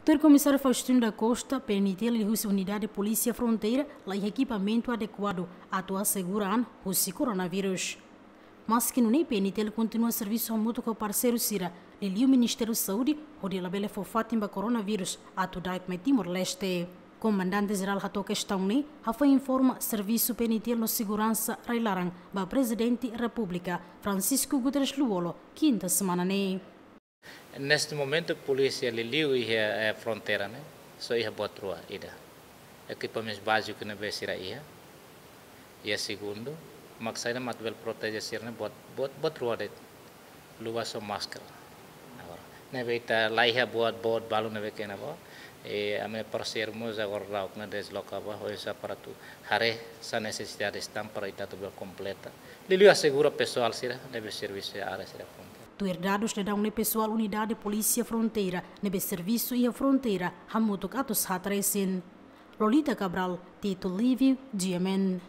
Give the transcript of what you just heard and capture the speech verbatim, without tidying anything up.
Tuir Komisáriu Faustino da Costa, P N T L liuhusi Unidade Polísia Fronteira laiha ekipamentu adekuadu atu asegura an husi koronavírus. Maski nune'e, P N T L kontinua servisu hamutuk ho parseiru sira, liuliu Ministériu Saúde, hodi labele fó fatin ba koronavírus atu da'et mai Timor-Leste. Komandante Jerál hato'o kestaun ne'e, hafoin informa servisu P N T L no seguransa rai-laran ba Prezidente Repúblika, Francisco Guterres Lú-Olo, kinta semana ne'e. Neste momento, polísia liuliu iha, eh, fronteira ne'e, só iha boot rua ida. Ekipamentu báziku ne'ebé sira iha. Iha segundu, mak saida mak atu bele proteje sira ne'e boot, boot, boot rua de'it. Lubas ho máskara. Agora, ne'ebé ita laiha boot, boot balu ne'ebé kena ba. E ami-nia parseiru mós agora la'o ona desloka ba, oinsá para atu haree sá nesesidade tan para ita atu bele kompleta. Liuliu asegura pesoál sira ne'ebé servisu iha área sira fronteira. Tuir dadus daudaun ne'e, pesoál Unidade Polísia Fronteira ne'ebé servisu iha fronteira hamutuk atus haat resin. Lolita Cabral, Tito Livio, G M N.